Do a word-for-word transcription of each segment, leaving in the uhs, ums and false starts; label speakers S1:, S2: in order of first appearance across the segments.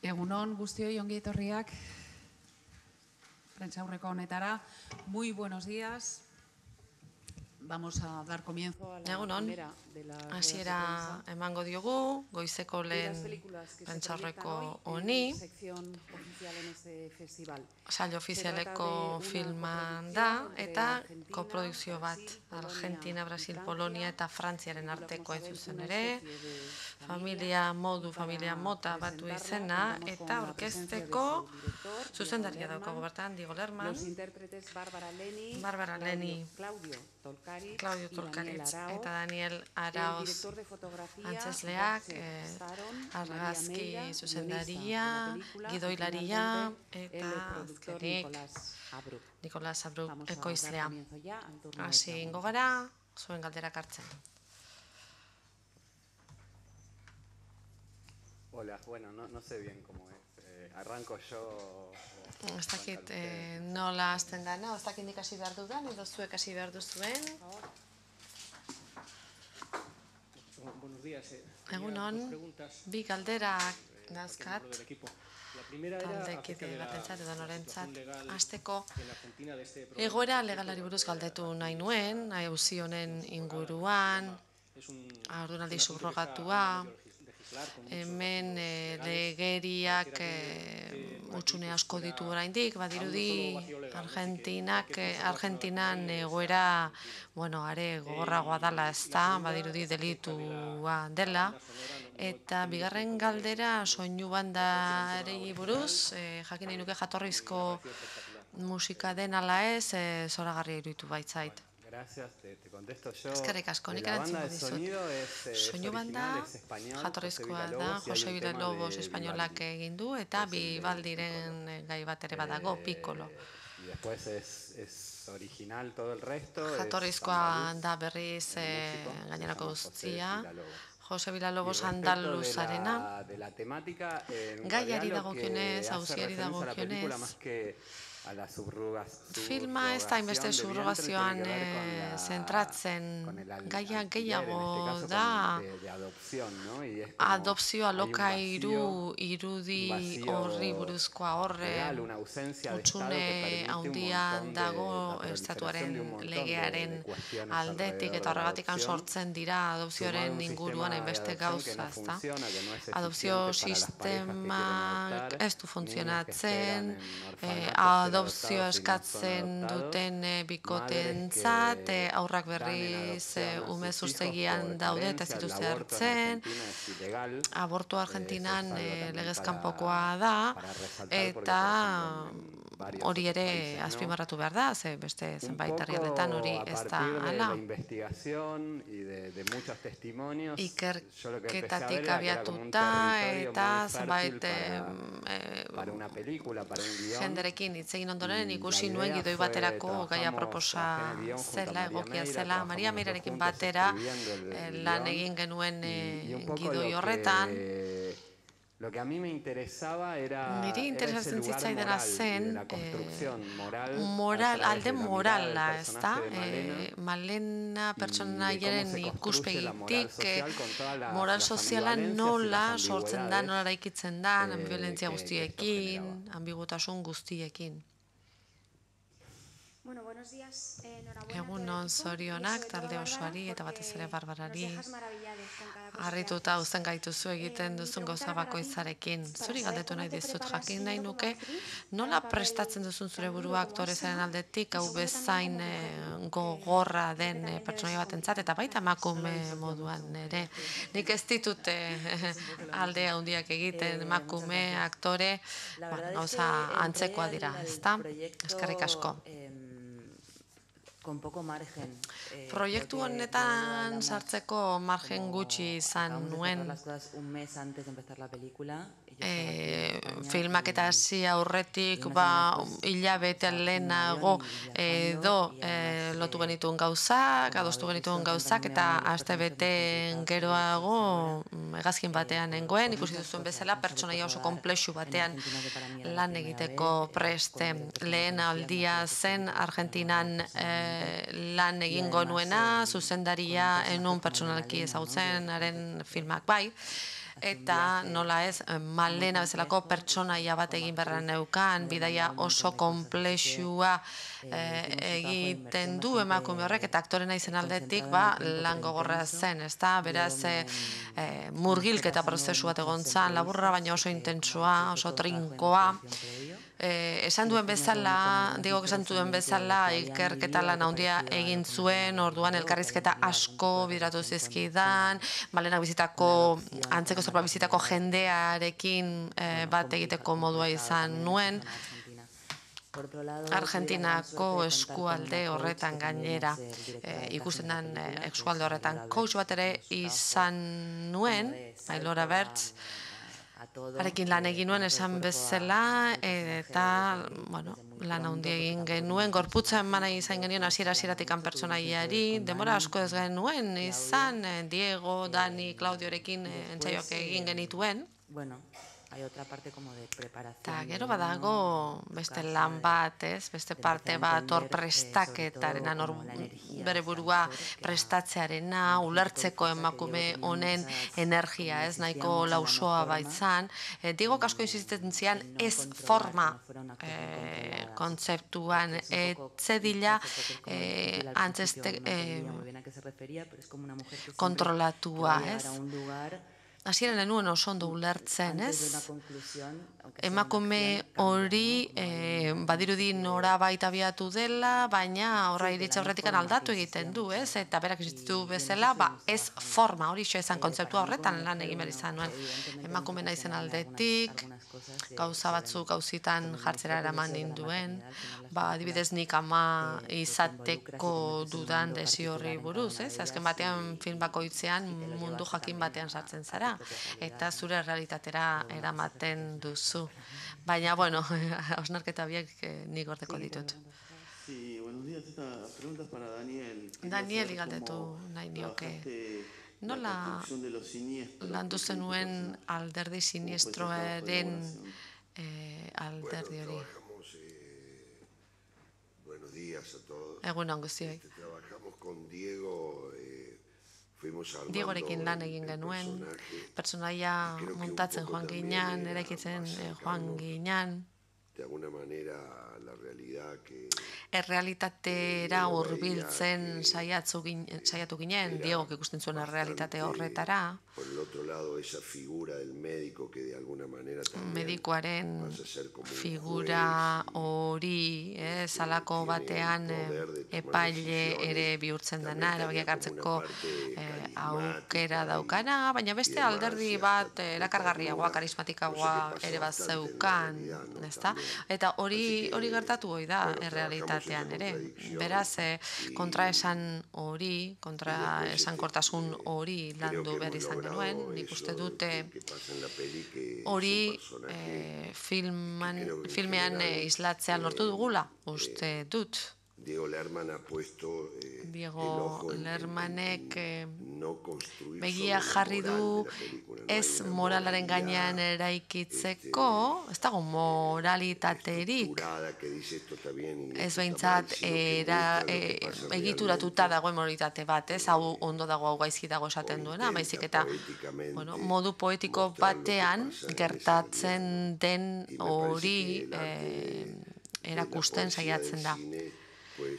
S1: Egunon guztioi ongi etorriak prentsaurreko honetara. Muy buenos días. Vamos a dar comienzo a la primera de las ruedas de
S2: hasiera emango diogu, goizeko lehen prentsaurreko honi. Saio ofizialeko filman da, eta koprodukzio bat Argentina, Brasil, Polonia eta Frantziaren arteko ez zuzen ere. Familia modu, familia mota batu izena, eta orkesteko zuzendaria daukagu bertan, Diego Lerman, Barbara Leni, Claudio Tolkaritz eta Daniel Araoz antzesleak, argazki zuzendaria, gidoilaria eta azkenik Nicolás Abruk ekoizlea. Hasi ingo gara, zuen galderak hartzen.
S3: Hola, bueno, no, no sé bien cómo es. Eh, arranco yo...
S2: Ez dakit nola hasten dana, ez dakit nik hasi behar dudan, edo zuek hasi behar duzuen. Egunon, bi galderak dauzkat, taldekide batentzat edo norentzat. Hasteko egoera legalari buruz galdetu nahi nuen, auzi honen inguruan, haurdunaldi subrogatua, hemen legeriak utxune asko ditu oraindik, badirudi Argentinak, Argentinan egoera, bueno, are gogorragoa dela ezta, badirudi delitua dela, eta bigarren galdera soinu bandarei buruz, jakin nahi nuke jatorrizko musika den ala ez, zoragarria iruditu baitzait. Eskerrik asko, nik erantzungo dizut. Soinu banda jatorrizkoa da, Jose Villalobos espainolak egin du, eta Bibaldiren gai bat ere badago, Piccolo. Jatorrizkoa da berriz gainerako guztia, Jose Villalobos andaluzarena. Gaiari dagokionez, auziari dagokionez, filma ez da inbeste subrogazioan zentratzen, gaia gehiago da adopzioa lokairu irudi horri buruzkoa horre utxune handian dago estatuaren legearen aldetik eta horregatik sortzen dira adopzioaren inguruan hainbeste gauza, ezta? Adopzio sistemak ez du funtzionatzen, adopzioa eskatzen duten bikotentzat, aurrak berriz ume zuztegian daude eta ez dituzte hartzen, abortu Argentinan legez kanpokoa da, eta hori ere azpimarratu behar da, ze beste zenbait herrialdetan hori ez da hala. Ikerketatik abiatuta eta zenbait jenderekin hitz egin ondoren ikusi nuen gidoi baterako gaia proposa zela, egokia zela, Maria Meirarekin batera lan egin genuen gidoi horretan. Niri interesatzen zitzaidana zen alde morala, ez da? Malena pertsonaiaren ikuspegitik moral soziala nola sortzen da, nola eraikitzen da, ambiviolentzia guztiekin, ambigutasun guztiekin. Egunon zorionak, talde osoari eta batez ere Barbarari. Harrituta uzten gaituzu egiten duzun gauza bakoitzarekin. Zuri galdetu nahi dizut, jakin nahi nuke, nola prestatzen duzun zure burua aktorezaren aldetik, hau bezain gogorra den pertsonaia batentzat, eta baita emakume moduan ere. Nik ez ditut alde handiak egiten, emakume, aktore, gauza antzekoa dira, ezta? Eskerrik asko. Proiektu honetan sartzeko margen gutxi izan nuen. Filmak eta hasi aurretik hilabete lehenago edo lotu genituen gauzak, adostu genituen gauzak, eta astebete geroago hegazkin batean nengoen, ikusi duzuen bezala pertsonaia oso konplexu batean lan egiteko preste. Lehen aldia zen Argentinan lan egingo nuena, zuzendaria enun pertsonalki ezagutzen haren filmak bai, eta nola ez, Malena bezalako pertsonaia bat egin beharra neukan, bidaia oso konplexua egiten du emakume horrek, eta aktorena izen aldetik lan gogorra zen, ez da, beraz murgilketa prozesu bat egon zan, laburra baina oso intentsua, oso trinkoa. Esan duen bezala, digok esan duen bezala, ikerketa lan handia egin zuen, orduan elkarrizketa asko bidratu zizkidan, Malenak bizitako, antzeko zerbait bizitako jendearekin bat egiteko modua izan nuen, Argentinako eskualde horretan gainera, ikusten den eskualde horretan coach bat ere izan nuen, Ailora Bertz, harekin lan egin nuen esan bezala, eta lan handia egin genuen, gorputza eman izan genuen hasiera-hasieratik pertsonaiari, denbora asko ez genuen izan, Diego, Dani, Claudiorekin entsaioak egin genituen. Eta gero badago beste lan bat, beste parte bat hor prestaketaren, bere burua prestatzearena, ulertzeko emakume honen energia, ez nahiko lausoa baitzan. Diego asko insistenten zian ez forma kontzeptuan, etzedila antzeste kontrolatua, ez? Hasieran enuen oso ondo ulertzen, ez? Emakume hori badirudi norabait abiatu dela, baina horra iritsa horretik aldatu egiten du, ez? Eta berak existitu bezala, ez forma, hori xo ezan kontzeptua horretan lan egin behar izan nuen. Emakume naizen aldetik, gauza batzuk gauzitan jartzera eraman ninduen, adibidez nik ama izateko dudan desio horri buruz, ez? Azken batean film bakoitzean mundu jakin batean sartzen zara, eta zure realitatera eramaten duzu. Baina, bueno, hausnarketa biek nik gordeko ditut. Daniel igaldetu nahi nioke. Nola landu zenuen alderdi sinistroaren alderdi hori? Egun on guztioi. Diegorekin lan egin genuen, pertsonaia muntatzen joan ginean, eraikitzen joan ginean. Errealitatera hurbiltzen saiatu ginen, Diegok ikusten zuen errealitate horretara. Medikoaren figura hori, salako batean epaile ere bihurtzen dena, erabakiak hartzeko aukera daukana, baina beste alderdi bat erakargarriagoa, karismatikagoa ere bat zeukan, ezta? Eta hori gertatu hoi da errealitatean ere. Beraz, kontraesan hori, kontraesankortasun hori landu behar izan genuen, nik uste dute hori filmean islatzean lortu dugula, uste dut. Diego Lermanek begia jarri du ez moralaren gainean eraikitzeko, ez dago moralitaterik, ez behintzat egituratuta dagoen moralitate bat, ez hau ondo dago, hau gaizki dago esaten duena, baizik eta modu poetiko batean gertatzen den hori erakusten saiatzen da.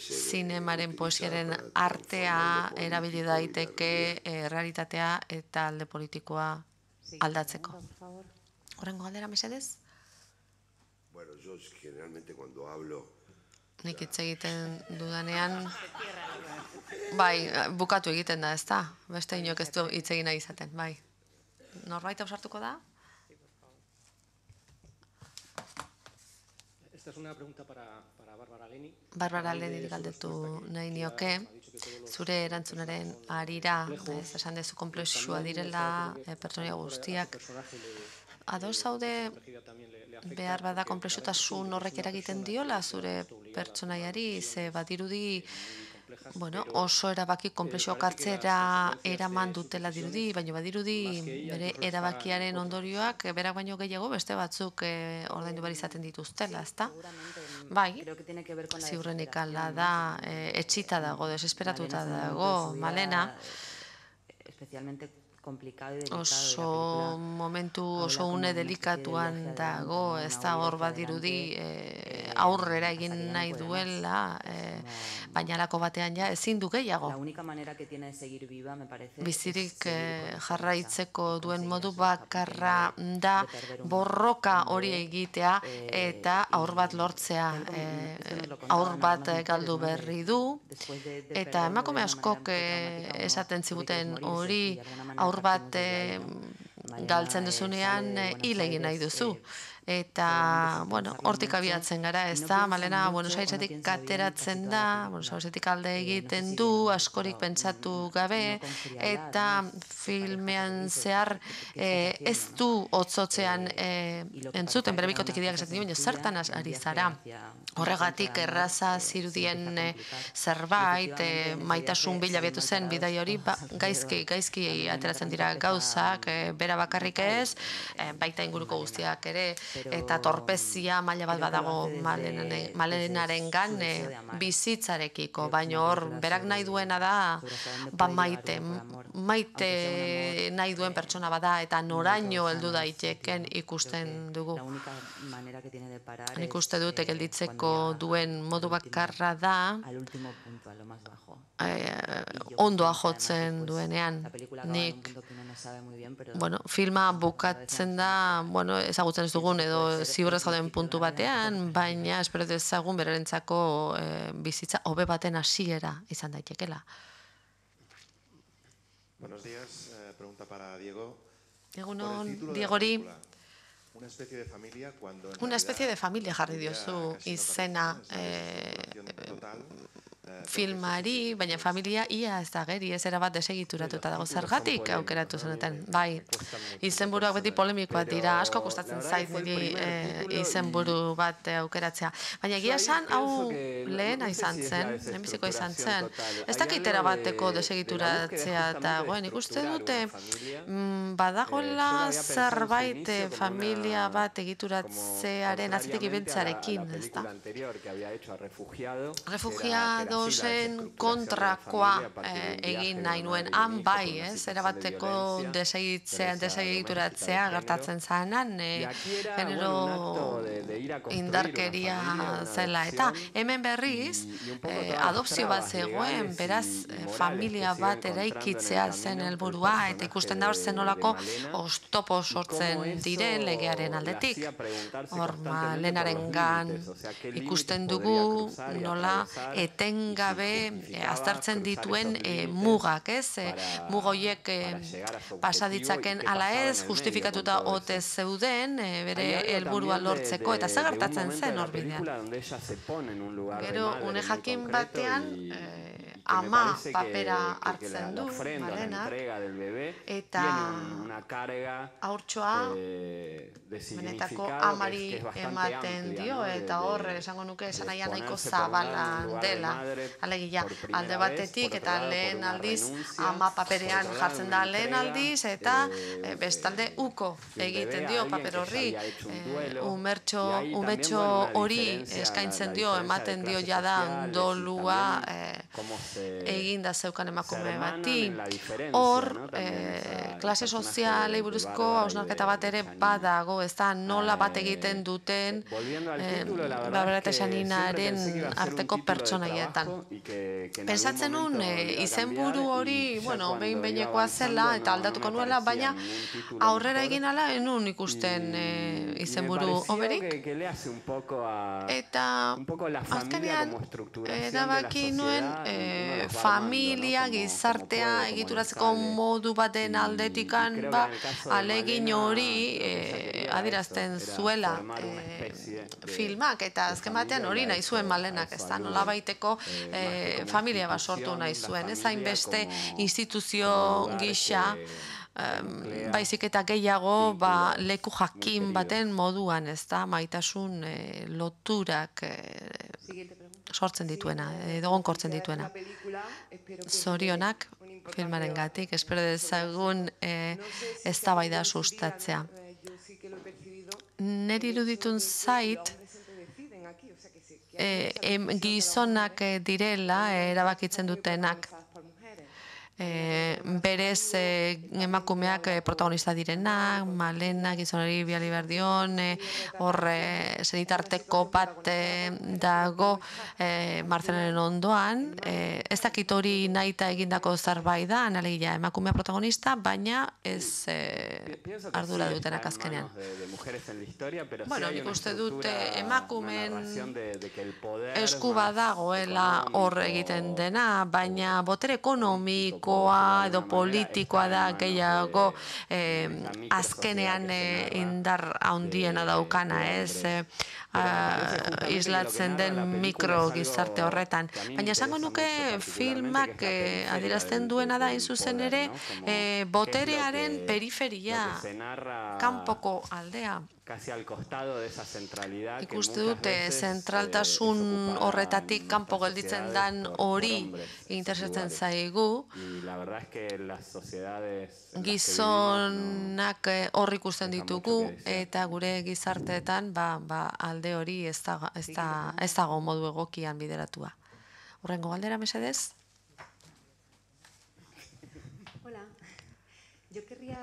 S2: Zinemaren poesiaren artea erabili daiteke realitatea eta alde politikoa aldatzeko. Horrengo galdera, mesedez? Nik hitz egiten dudanean, bai, bukatu egiten da, ez da? Beste inok ez du hitz egin nahi izaten, bai. Norbait ausartuko da?
S4: Esta es una pregunta para Bárbara Leni.
S2: Bárbara Leni galdetu nahi nioke, zure erantzunaren harira, esan dezu konplexua direla pertsonaia guztiak. Ados zaude behar bada konplexutasun horrek eragiten diola zure pertsonaiari, ze badirudi oso erabaki konplexuak hartzera eraman dutela dirudi, baina badirudi bere erabakiaren ondorioak berak baino gehiago beste batzuk ordaindu behar izaten dituztela, ezta? Bai, ziurrenik ala da, etxita dago, desesperatuta dago, Malena. oso momentu oso une delikatuan dago, ez da hor badirudi aurrera egin nahi duela, baina alako batean ja ezin du gehiago. Bizirik jarraitzeko duen modu bakarra da borroka hori egitea eta aur bat lortzea. Aur bat galdu berri du, eta emakume askok esaten ziguten hori aur bat galtzen duzunean hil egin nahi duzu. Eta, bueno, hortik abiatzen gara, ez da, Malena Buenos Airesetik ateratzen da, Buenos Airesetik alde egiten du, askorik pentsatu gabe, eta filmean zehar ez du hotzotzean entzuten, bere bikotek ideak esaten duen, zertan ari zara. Horregatik erraza zirudien zerbait, maitasun bila biatu zen bidai hori, gaizki, gaizki ateratzen dira gauzak, bera bakarrik ez, baita inguruko guztiak ere, eta torpezia maila bat badago Malenarengan bizitzarekiko, baina hor berak nahi duena da ba maite, maite nahi duen pertsona bada eta noraino heldu daiteken ikusten dugu. Nik uste dute gelditzeko duen modu bakarra da ondoa jotzen duenean. Nik bueno, filma bukatzen da, bueno, ezagutzen ez dugun edo ziurrez gauden puntu batean, baina espero dezagun berarentzako bizitza hobe baten hasiera izan daitekela.
S5: Buenos días, pregunta para Diego.
S2: Egunon, Diegori.
S5: Una especie de familia cuando
S2: Una especie de familia jarri diozu izena filmari, baina familia ia ez da geri, ez erabat desegituratuta dago. Zergatik aukeratu zenuten? Bai, izenburuak beti polemikoak dira, asko kostatzen zait niri izenburu bat aukeratzea. Baina egia esan, hau lehena izan zen, lehenbiziko izan zen. Ez dakit erabateko desegituratzea dagoen, ikuste dute badagoela zerbait familia bat egituratzearen atzetik ibiltzarekin, ez da? Refugiado zen kontrakoa egin nahi nuen, han bai, ez, erabateko desegituratzea gertatzen zanan, genero indarkeria zela. Eta hemen berriz, adopzio bat zegoen, beraz, familia bat eraikitzea zen helburua, eta ikusten da hor zenolako oztopo sortzen diren legearen aldetik. Hor, Malenarengan ikusten dugu nola eten gabe aztertzen dituen mugak, ez? Mugoiek pasaditzaken ala ez, justifikatuta ote zeuden, bere helburua lortzeko, eta zer gertatzen zen hor bidean. Gero, une jakin batean, ama papera hartzen du, Malenak, eta haurtxoa benetako amari ematen dio, eta hor, esango nuke, esan nahian nahiko zabalan dela. Alegia, alde batetik eta lehen aldiz ama paperean jartzen da lehen aldiz eta bestalde uko egiten dio paper horri, umetxo hori eskaintzen dio, ematen dio jada dolua eginda zeukan emakume bati. Hor, klase sozialei buruzko hausnarketa bat ere badago, ez da nola bat egiten duten Barbara eta Xaninaren arteko pertsonaietan. Pentsatzen nun izenburu hori, bueno, behin behinekoa zela eta aldatuko nuela, baina aurrera egin ala enun ikusten izenburu hoberik. Eta azkenean erabaki nuen familia, gizartea egituratzeko modu baten aldetikan, alegin hori adirazten zuela filmak, eta azken batean hori nahi zuen Malenak, ez da, nola baiteko familia bat sortu nahi zuen, ez hainbeste instituzio gisa, baizik eta gehiago leku jakin baten moduan, ez da, maitasun loturak sortzen dituena, edo gonkortzen dituena. Zorionak filmaren gatik, espero dezagun eztabaida sustatzea. Neri iruditun zait, gizonak direla erabakitzen dutenak. berez emakumeak protagonista direnak, Malena, gizonari biali behar dion, hor zenitarteko bat dago Marcelenen ondoan, ez dakit hori nahita egindako zerbait da, alegia emakumea protagonista, baina ez ardura dutenak azkenean. Bueno, nik uste dut emakumeen esku badagoela hor egiten dena, baina botere ekonomiko edo politikoa da gehiago azkenean indar handiena daukana, ez islatzen den mikro gizarte horretan. Baina esango nuke filmak adierazten duena da, hain zuzen ere, boterearen periferia, kanpoko aldea. Ikuste dute, zentraltasun horretatik kanpo gelditzen dan hori interesatzen zaigu. Gizonak hor ikusten ditugu, eta gure gizarteetan alde hori ez dago modu egokian bideratua. Horrengo galdera, mesedez?
S6: Yo querría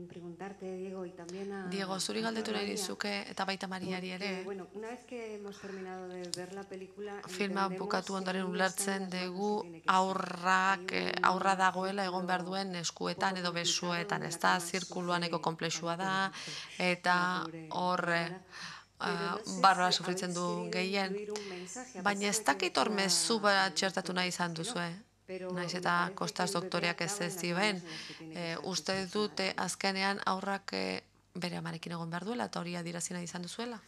S6: preguntarte, Diego, y también a...
S2: Diego, zuri galdetu nahi dizuke eta baita Mariari ere.
S6: Bueno, una vez que hemos terminado de ver la película...
S2: Filma bukatu ondoren ulertzen dugu aurrak, aurra dagoela egon behar duen eskuetan edo besuetan, ez da, zirkuluaneko komplexua da, eta hor... barra sufritzen du gehien, baina ez dakit hor mezu bat txertatu nahi izan duzue. Naiz eta Kostas doktoreak ez ez zioen, uste dute azkenean aurrak bere amarekin egon behar duela eta hori adirazina izan duzuela?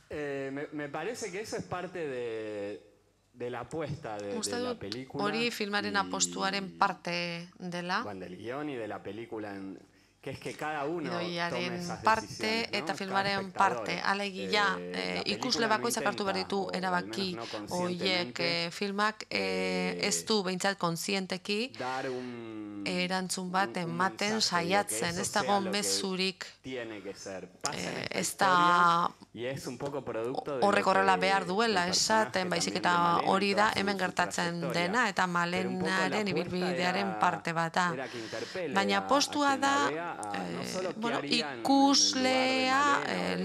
S3: Me parece que eso es parte de la apuesta de la película.
S2: Hori filmaren apostuaren parte dela.
S3: Del guión y de la película que es que cada uno tome esas decisiones,
S2: parte eta filmaren parte, alegia ikusle bakoitzak hartu behar ditu erabaki horiek filmak ez du behintzat kontzienteki erantzun bat ematen saiatzen, ez dago mezurik, ez da horrek horrela behar duela esaten, baizik eta hori da hemen gertatzen dena eta Malenaren ibilbidearen parte bat da. Baina postua da ikuslea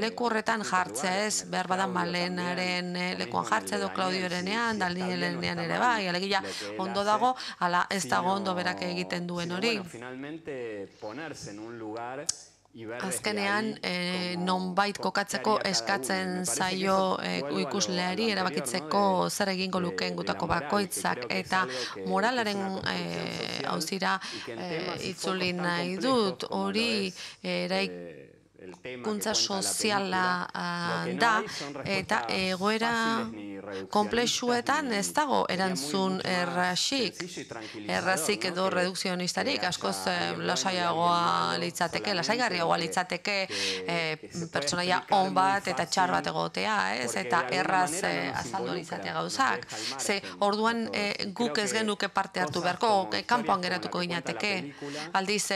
S2: leku horretan jartzea, ez behar bada Malenaren lekuan jartzea edo Claudiorenean, Danielenean ere bai, alegia ondo dago, ala ez dago ondo berak egiten duen hori. Azkenean, nonbait kokatzeko eskatzen zaio ikusleari erabakitzeko zer egingo lukeen gutako bakoitzak eta moralaren auzira itzuli nahi dut, hori eraikuntza soziala da eta egoera konplexuetan ez dago erantzun errazik, errazik edo redukzionistarik, askoz lasaiagoa litzateke, lasaigarriagoa litzateke pertsonaia on bat eta txar bat egotea, ez? Eta erraz azaldu litzatea gauzak. Ze orduan guk ez genuke parte hartu beharko, kanpoan geratuko ginateke. Aldiz,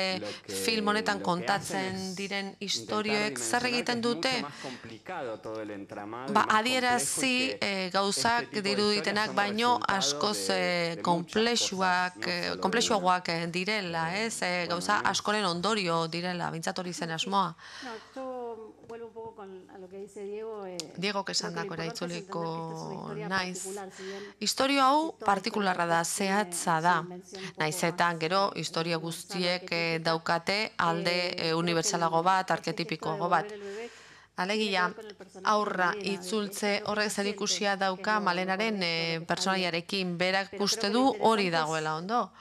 S2: film honetan kontatzen diren historioek zer egiten dute? Ba, adierazi gauzak diruditenak baino askoz konplexuagoak direla, ez? Gauza askoren ondorio direla, bintzat hori zen asmoa. Diego kesandako eraitzuliko naiz. Historio hau partikularra da, zehatza da. Naiz eta gero historia guztiek daukate alde unibertsalago bat, arketipikoago bat. Alegia, aurra itzultze horrek zerikusia dauka Malenaren pertsonaiarekin berak uste du hori dagoela ondo.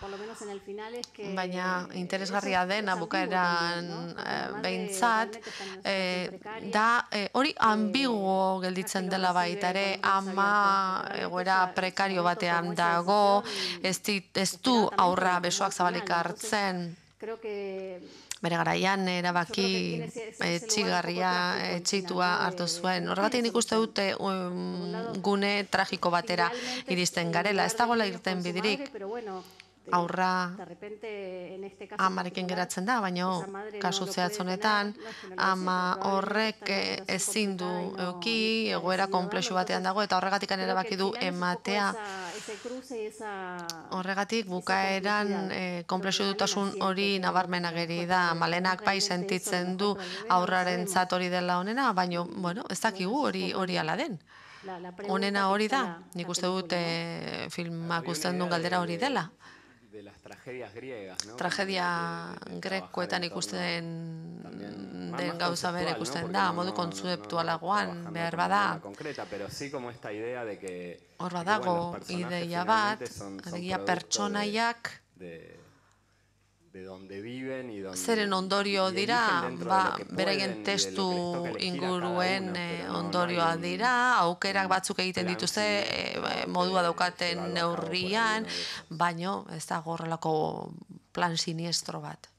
S2: Baina interesgarria dena bukaeran behintzat, da hori ambiguo gelditzen dela baita ere, ama egoera prekario batean dago, ez du aurra besoak zabalik hartzen, bere garaian erabaki etxigarria etxitua hartu zuen. Horregatik nik uste dute gune tragiko batera iristen garela. Ez dagoela irten bidirik. aurra amarekin geratzen da, baina kasu zehatz honetan, ama horrek ezin du euki, egoera konplexu batean dago, eta horregatik erabaki du ematea. Horregatik bukaeran konplexu dutasun hori nabarmen ageri da, Malenak bai sentitzen du aurrarentzat hori dela honena, baina, bueno, ez dakigu hori hori ala den. Honena hori da, nik uste dut filmak usten duen galdera hori dela. Tragedia grekoetan ikusten den gauza bere ikusten da, modu kontzeptualagoan behar bada. Hor badago ideia bat, alegia pertsonaiak zeren ondorio dira, beraien testu inguruen ondorioa dira, aukerak batzuk egiten dituzte modua daukaten neurrian, baino ez da horrelako plan siniestro bat.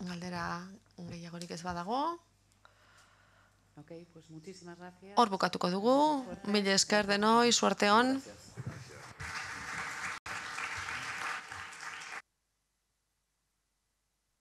S2: Galdera gehiagorik ez badago. Hor bukatuko dugu, mila esker denoi, suerte hon.